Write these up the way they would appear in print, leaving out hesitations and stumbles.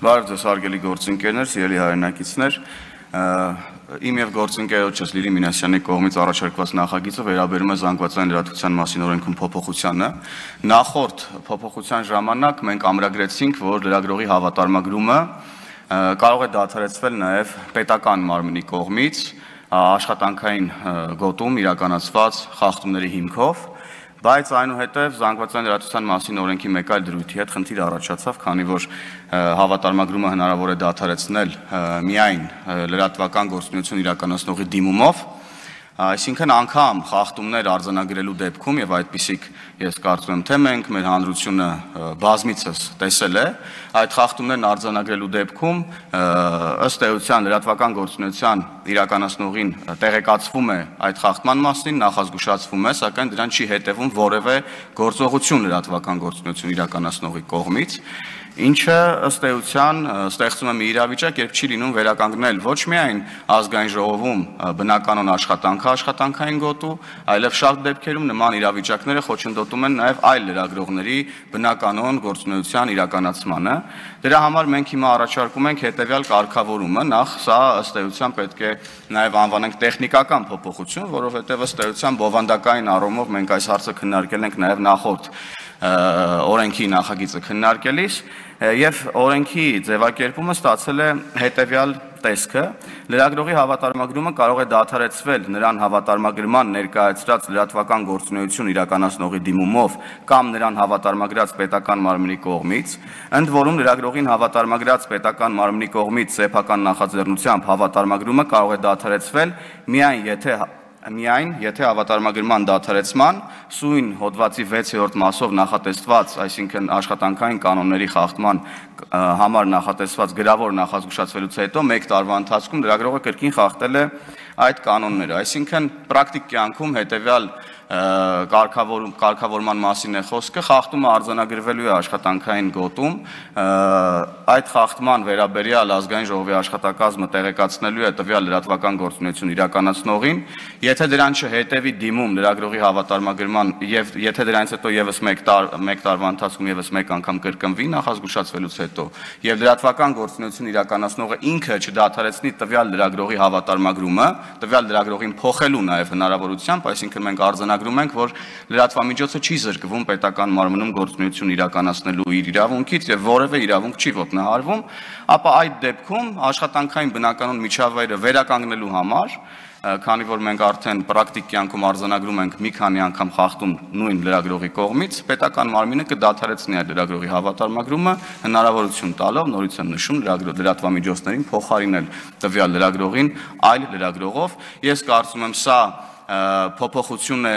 Բարև ձեզ հարգելի գործընկերներ, սիրելի հայրենակիցներ, իմ եւ գործընկերոջս Լիլի Մինասյանի կողմից առաջարկված նախագիծը վերաբերում է զանգվածային լրատվության մասին օրենքում փոփոխությանը։ Նախորդ փոփոխության ժամանակ մենք ամրագրեցինք, որ լրագրողի հավատարմագրումը կարող է դադարեցվել նաեւ պետական մարմնի կողմից աշխատանքային գոտում իրականացված խախտումների հիմքով, բայց այնուհետև զանգվածային լրատվության մասին օրենքի մեկ այլ դրույթի հետ խնդիր առաջացավ, քանի որ հավատարմագրումը հնարավոր է դադարեցնել միայն լրատվական գործունեություն իրականացնողի դիմումով, այսինքն անգամ խախտումներ արձանագրելու դեպքում եւ այդպիսիք ես կարծում եմ թե մենք մեր հանրությունը բազմիցս տեսել է, այդ խախտումներն արձանագրելու դեպքում ըստ էության լրատվական գործունեության իրականացնողին տեղեկացվում է այդ խախտման մասին, նախազգուշացվում է, սակայն դրան չի հետևում որևէ գործողություն լրատվական գործունեություն իրականացնողի կողմից, ինչը ըստ էության ստեղծում է մի իրավիճակ, երբ չի լինում վերականգնել ոչ միայն ազգային ժողովում բնականon աշխատանքային գոտու, այլև շատ դեպքերում նման իրավիճակները խոչընդոտում են նաև այլ լրագրողների բնականon գործունեության իրականացմանը։ Դրա համար մենք հիմա առաջարկում ենք հետևյալ կարգավորումը, նախ սա ըստ էության պետք է նաև անվանենք տեխնիկական փոփոխություն, որովհետև ըստ էության բովանդակային առումով մենք այս հարցը քննարկել ենք նաև նախորդ օրենքի նախագիծը քննարկելիս եւ օրենքի ձևակերպումը ստացել է հետեւյալ տեսքը. լրագրողի հավատարմագրումը կարող է դադարեցվել նրան հավատարմագրման ներկայացրած լրատվական գործունեություն իրականացնողի դիմումով կամ նրան հավատարմագրած պետական մարմնի կողմից, ընդ որում լրագրողին հավատարմագրած պետական մարմնի կողմից սեփական նախաձեռնությամբ հավատարմագրումը կարող է դադարեցվել միայն եթե հավատարմագրման դադարեցման սույն հոդվածի 6-րդ մասով նախատեսված, այսինքն աշխատանքային կանոնների խախտման համար նախատեսված գրավոր նախազգուշացվելուց հետո 1 տարվա ընթացքում լրագրողը կրկին խախտել է այդ կանոնները, այսինքն պրակտիկ կյանքում հետևյալ կարգավորման մասին է խոսքը, խախտումը արձանագրվելու է աշխատանքային գոտում, այդ խախտման վերաբերյալ ազգային ժողովի աշխատակազմը տեղեկացնելու է տվյալ լրատվական գործունեություն իրականացնողին, եթե դրան չհետևի դիմում լրագրողի հավատարմագրման եւ եթե դրանից հետո եւս 1 տարվա ընթացքում եւս 1 անգամ կրկնվի նախազգուշացվելուց հետո եւ լրատվական գործունեություն իրականացնողը ինքը չդադարեցնի տվյալ լրագրողի հավատարմագրումը, տվյալ լրագրողին փոխելու նաեւ հնարավորությամբ, այսինքն մենք արձանագրում ենք, որ լրատվամիջոցը չի զրկվում պետական մարմնում գործունեություն իրականացնելու իր իրավունքից եւ որևէ իրավունք չի ոտնահարվում, ապա այդ դեպքում աշխատանքային բնականon միջավայրը վերականգնելու համար, քանի որ մենք արդեն պրակտիկ կյանքում արձանագրում ենք մի քանի անգամ խախտում նույն լրագրողի կողմից, պետական մարմինը կդադարեցնի այդ լրագրողի հավատարմագրումը, հնարավորություն տալով, նորից եմ նշում, լրատվամիջոցներին փոխարինել տվյալ լրագրողին այլ լրագրողով։ Ես կարծում եմ սա փոփոխություն է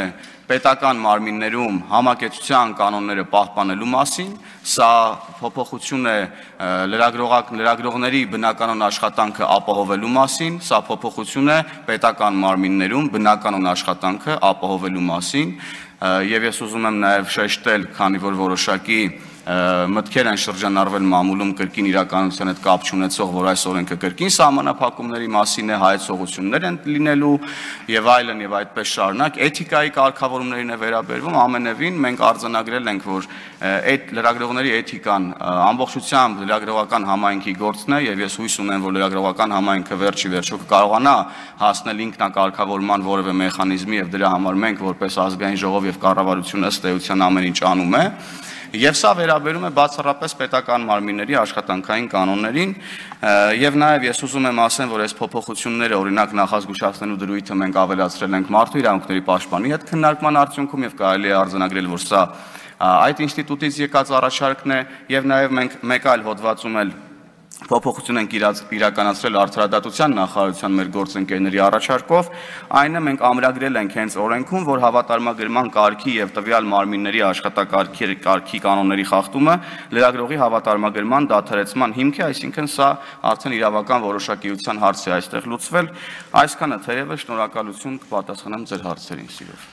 պետական մարմիններում համակեցության կանոնները պահպանելու մասին, սա փոփոխություն է լրագրողների բնականon աշխատանքը ապահովելու մասին, սա փոփոխություն է պետական մարմիններում բնականon աշխատանքը ապահովելու մասին, եւ ես ուզում եմ նաեւ շեշտել, քանի որ որոշակի մտքեր են շրջանառվել մամուլում կրկին իրականության հետ կապ չունեցող, որ այս օրենքը կրկին սահմանափակումների մասին է, հայեցողություններ են լինելու եւ այլն եւ այդպես շարունակ, էթիկայի կարգավորումներին է վերաբերվում, ամենևին մենք արձանագրել ենք, որ այդ լրագրողների էթիկան ամբողջությամբ լրագրողական համայնքի գործն է եւ ես հույս ունեմ, որ լրագրողական համայնքը վերջի վերջո կկարողանա հասնել ինքնակարգավորման որևէ մեխանիզմի եւ դրա համար մենք որպես ազգային ժողով եւ կառավարություն ըստ էության ամեն ինչ անում է Եվ սա վերաբերում է բացառապես պետական մարմինների աշխատանքային կանոններին եւ նաեւ ես ուզում եմ ասեմ, որ այս փոփոխությունները օրինակ նախազգուշացնելու դրույթը մենք ավելացրել ենք մարդու իրավունքների պաշտպանի հետ քննարկման արդյունքում եւ կարելի է արձանագրել, որ սա այդ ինստիտուտից եկած առաջարկն է եւ նաեւ մենք մեկ այլ հոդվածում էլ փոփոխություն ենք իրականացրել արդարադատության նախարարության մեր գործընկերների առաջարկով, այնը մենք ամրագրել ենք հենց օրենքում, որ հավատարմագրման կարգի եւ տվյալ մարմինների աշխատակարգի կանոնների խախտումը լրագրողի հավատարմագրման դադարեցման հիմք է, այսինքն սա արդեն իրավական որոշակիության հարց է այստեղ լուծվել, այսքանը թերևս շնորհակալություն կպատասխանեմ ձեր հարցերին սիրով